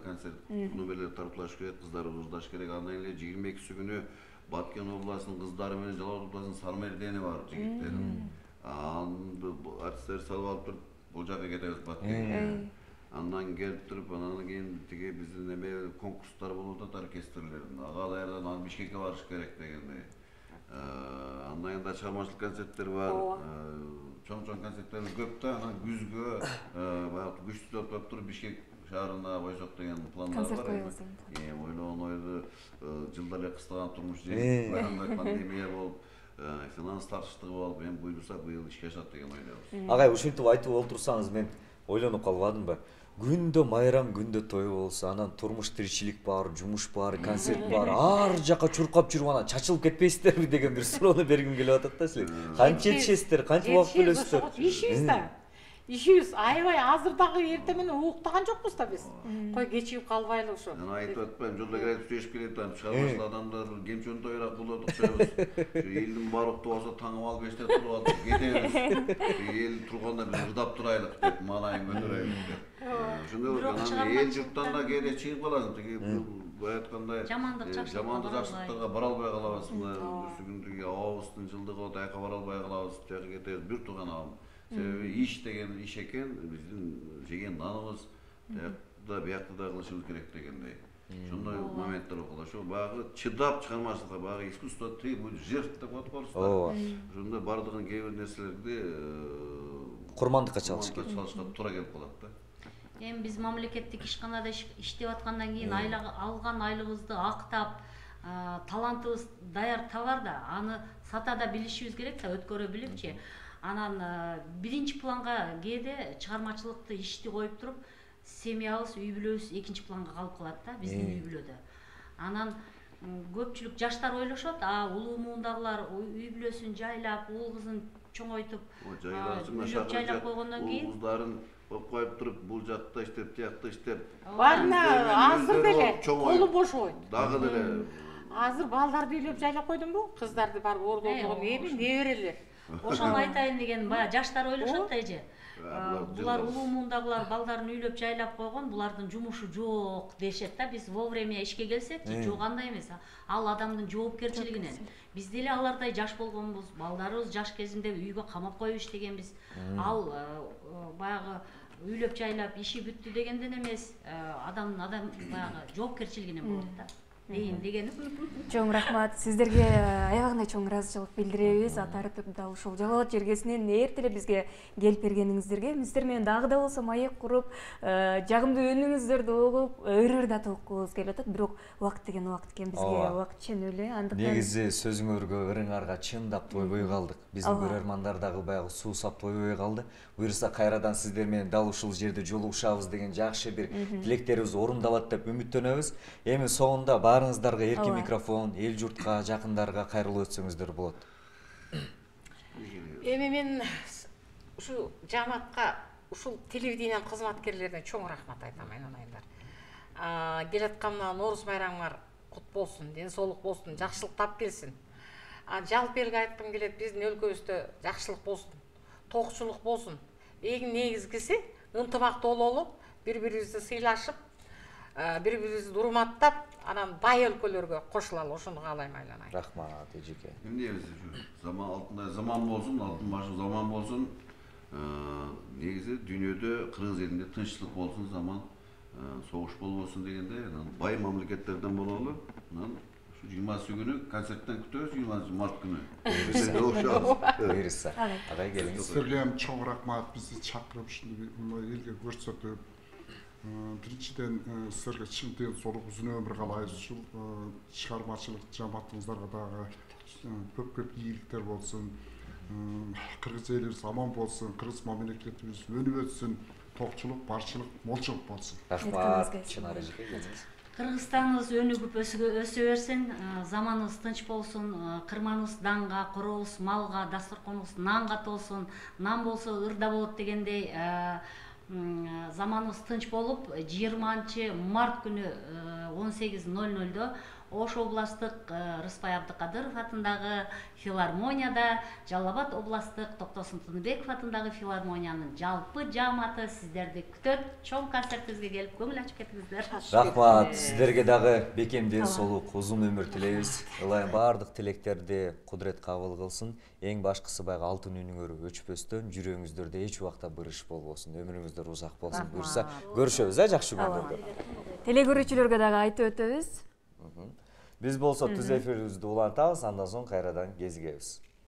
концерт номерлер тартуулаш керек, кыздарыбыз ырдаш керек. Андан эле 22 күнү Баткен областынын кыздары менен Жалал Абад областынын Сармердени бар жигиттери. Артисттер салып алып туруп бул жака кетебиз Баткенге. Андан келип туруп, анан кийин тиги биздин эме конкурстар болуп атат оркестрлердин. Ага даярдан анан Бишкекке барыш керек дегендей. Андан кийин да чыгармачылык концерттер бар. Чоң концерттерибиз көп да. Анан күзгө баягы күчтүү топтоп туруп Бишкек шаарына койсок деген пландар бар. Концерт коебуз. Ойлогон ойду жылдар эле кыстаган турмуш жөнүндө пандемия болуп, финанс тартыштыгы болуп, эми буйруса быйыл ишке ашат деген ойдобуз. Агай ушинтип айтып олтурсаңыз мен ойлонуп калбадымбы? Күндө майрам, күндө той болсо, анан турмуш тиричилик бар, жумуш бар, концерт бар, ар жака чуркап жүрүп анан чачылып кетпейсиздерби деген бир суроону бергим келип атат да силер. Канча жетишесиздер, канча убакыт бөлөсүздөр? Ишибиз да. Ишибиз аябай азыр дагы эртең менен уктаган жокпуз да биз. Кой кечигип калбайлы ошо. Мен айтып атпайм, жолдо келип сүйлөшүп келет, чыгармачыл адамдар кемчөн тойрак болот окшойбуз. Ошо элдин баары уктап алса таңым ал 5те туруп алып кетебиз. Эл турганда биз ырдап турайлык деп, маанайын көтөрөйлүк деп. Ошондой эл журттан да кээде чыгып каласың, тиги бая айткандай жамандык жакшылыктарга бара албай калабыз. Бүрсү күндү абабыздын жылдыгы аяка бара албай калабыз, жака кетебиз. Бир тууган абам. Себеби иш деген иш экен, биздин жеген наныбыз да биякта да кылышыбыз керек дегендей. Ошондой моменттер болот. Ошо баягы чыдап чыгармачылыкка, баягы искусство требует жертв деп коет орустар. Ошондой бардыгын кээ бир нерселерди Курмандыкка чалышка туура келип калат да. Эми биз мамлекеттик ишканада иштеп аткандан кийин алган айлыгыбызды актап, талантыбыз даяр табар да, аны сата да билишибиз керек да, өткөрө билипчи. Анан биринчи планга кээде чыгармачылыкты ишти коюп туруп, семьябыз, үй бүлөбүз экинчи планга калып калат да, биздин үй бүлөдө. Анан көпчүлүк жаштар ойлошот, улуу муундагылар үй бүлөсүн жайлап, уул кызын чоңойтуп, жайлап койгондон кийин кыздарын коюп туруп, бул жакта иштеп, тиякта иштеп. Барына азыр деле колу бошобойт. Дагы деле азыр балдарды үйлөп жайлап койдумбу? Кыздарды барып ордондогон эми неберелер. Ошону айтайын деген, баягы жаштар ойлошот да эже. Булар улуу муундагылар балдарын үйлөп жайлап койгон, булардын жумушу жок дешет да. Биз вовремя ишке келсекчи, жок андай эмес. Ал адамдын жоопкерчилигинен. Биз деле алардай жаш болгонбуз, балдарыбыз жаш кезинде үйгө камап коюп иштегенбиз. Ал баягы үйлөп жайлап иши бүттү дегенден эмес, адамдын баягы жоопкерчилигинен болот да. Дейин дегеним. Чоң рахмат. Сиздерге аябагандай чоң ыраазычылык билдиребиз. Атартып дал ушул Жалал Абад жергесинен эртеле бизге келип бергениңиздерге, сиздер менен дагы да болсо маек куруп, жагымдуу үнүңүздөрдү угуп, ыр да толкубуз келип атат. Бирок убакыт деген убакыт экен, бизге убакыт ченөлү. Андыктан негизи сөзүңөргө, ырыңарга чындап тойбой калдык. Биздин көрөрмандар дагы баягы суусап тойбой калды. Буюрса кайрадан сиздер менен дал ушул жерде жолугушабыз деген жакшы бир тилектерибиз орундалат деп үмүттөнөбүз. Эми соңунда баарыңыздарга эркин микрофон, эл журтка, жакындарга кайрылуу өтсөңүздөр болот. Эми мен ушу жамаатка, ушул телевидениянын кызматкерлерине чоң рахмат айтам, айнанайымдар. Келаткан Нооруз майрамыңар кут болсун, ден соолук болсун, жакшылык тап келсин. Жалпы элге айткым келет, биздин өлкөбүздө жакшылык болсун, токчулук болсун. Эң негизгиси ынтымактуу бололу, бири-бирибизди сыйлашып, бири-бирибизди урматтап, анан бай өлкөлөргө кошулалы, ошону каалайм айланайын. Рахмат эжеке. Эмне заман алтындай заман болсун, алтын башы заман болсун. Негизи дүйнөдө кыргыз элинде тынччылык болсун, заман согуш болбосун дегенде, бай мамлекеттерден бололу. Анан 20 күнү концерттен күтөбүз, 20 март күнү. Буюрса. Агай келиңиз. Сиздерге чоң рахмат, бизди чакырып ушундай элге көрсөтүп, биринчиден сиздерге чын ден соолук, узун өмүр каалайбыз. Ушул чыгармачылык жамаатыңыздарга дагы көп ийгиликтер болсун. Кыргыз элибиз аман болсун, кыргыз мамлекетибиз өнүп өтсүн, токчулук, барчылык, молчулук болсун. Рахмат, Чынар эжеке, келиңиз. Кыргызстаныбыз өнүгүп өсө берсин, заманыбыз тынч болсун, кырманыбыз данга, коробуз малга, дасторконубуз нанга толсун. Нан болсо ырда болот дегендей, заманыбыз тынч болуп, 20 март күнү 18:00 Ош областтык Рыспай Абдыкадыров атындагы филармонияда, Жалал Абад областтык Токтосун Тыныбеков атындагы филармониянын жалпы жааматы сиздерди күтөт. Чоң концертибизге келип көңүл ачып кетиңиздер. Рахмат, сиздерге дагы бекем ден соолук, узун өмүр тилейбиз. Ылайым баардык тилектерди Кудрет кабыл кылсын. Эң башкысы баягы алтын үнүңөр өчпөстөн, жүрөгүңүздөрдө эч убакта бырыш болбосун, өмүрүңүздөр узак болсун. Буюрса, көрүшөбүз, жакшы күндөрдө. Телекөрүүчүлөргө дагы айтып өтөбүз. Биз болсо түз эфирибизди улантабыз, андан соң кайрадан кезигебиз.